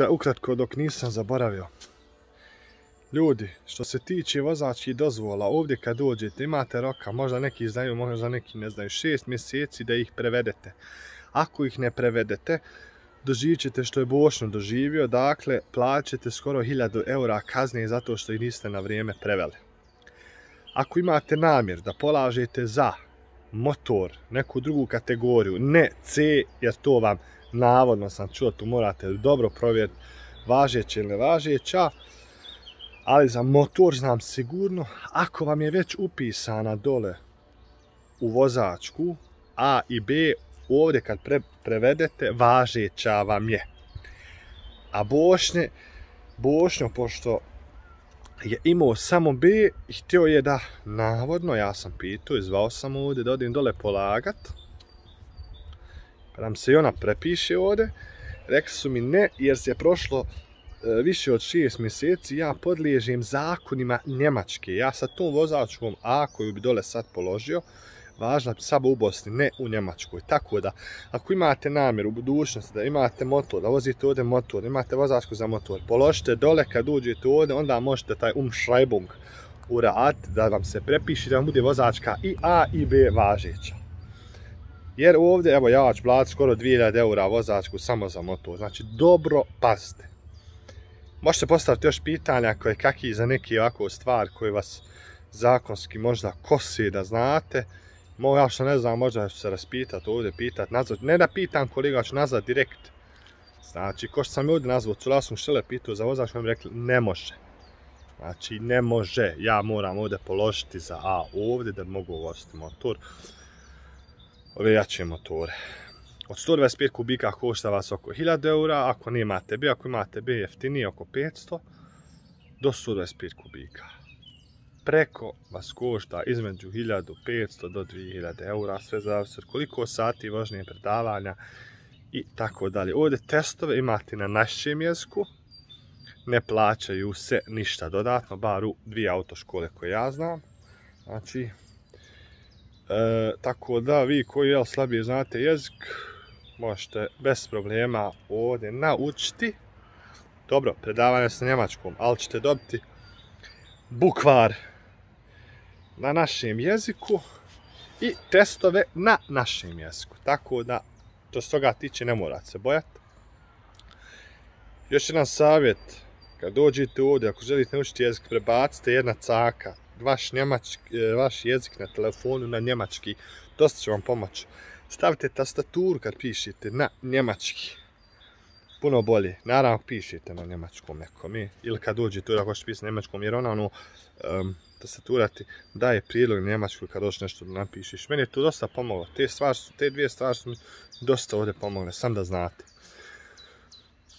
Ukratko dok nisam zaboravio. Ljudi, što se tiče vozačkih dozvola, ovdje kad dođete imate roka, možda neki znaju, možda neki ne znaju, 6 mjeseci da ih prevedete. Ako ih ne prevedete, doživit ćete što je Bošnjo doživio, dakle plaćate skoro 1000 eura kazne zato što ih niste na vrijeme preveli. Ako imate namjer da polažete za motor, neku drugu kategoriju, ne C, jer to vam navodno sam čuo, tu morate dobro provjeriti važeće ili nevažeća, ali za motor znam sigurno, ako vam je već upisana dole u vozačku A i B, ovdje kad prevedete važeća vam je. A Bošnjo, pošto je imao samo B i htio je da, navodno, ja sam pitao i zvao sam ovdje da odim dole polagat, pa nam se i ona prepiše ovdje, rekli su mi ne, jer se je prošlo više od 6 mjeseci, ja podliježem zakonima Njemačke. Ja sa tom vozačkom A koju bi dole sad položio, važna samo u Bosni, ne u Njemačkoj. Tako da, ako imate namjer u budućnosti da imate motor, da vozite ovdje motor, imate vozačku za motor, položite dole kad uđete ovdje, onda možete taj Umschreibung uraditi, da vam se prepiši, da vam bude vozačka i A i B važeća. Jer ovdje, evo, ja ću platiti skoro 2000 eura vozačku samo za motor. Znači, dobro pazite. Možete postaviti još pitanja koje kakvi za neke ovako stvari koje vas zakonski možda kose da znate. Ja što ne znam, možda ću se raspitati ovdje, pitati, nazvat. Ne da pitam kolega, ću nazvat direkt. Znači, ko što sam ovdje nazvao, cula sam štele pitao za vozač, mi rekli ne može. Znači, ne može. Ja moram ovdje položiti za A ovdje da mogu voziti motor. Ove jače motore. Od 125 kubika košta vas oko 1000 eura, ako nemate B, ako imate B jeftinije oko 500 do 125 kubika. Preko vas košta između 1500 do 2000 eura, sve zavisi od koliko sati vožnje, predavanja i tako dalje. Ovdje testove imate na našem jeziku, ne plaćaju se ništa dodatno, bar u 2 autoškole koje ja znam. Znači, tako da vi koji slabije znate jezik, možete bez problema ovdje naučiti. Dobro, predavanje sa njemačkom, ali ćete dobiti bukvar na našem jeziku i testove na našem jeziku. Tako da, to s toga tiče, ne morate se bojati. Još jedan savjet, kad dođete ovdje, ako želite naučiti jezik, prebacite jedna caka, vaš jezik na telefonu na njemački, dosta će vam pomoći. Stavite tastaturu kad pišete na njemački. Puno bolje. Naravno pišete na njemačkom nekom. Ili kad dođete ako hoćete pisati na njemačkom, jer ona tastatura ti daje prijedlog na njemačku kad hoćeš nešto da napišeš. Meni je to dosta pomoglo. Te dvije stvari su mi dosta ovdje pomogle, sam da znate.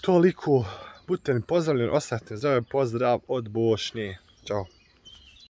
Toliko. Budite mi pozdravljeni, ostavite za ovaj pozdrav od Bošnje. Ćao.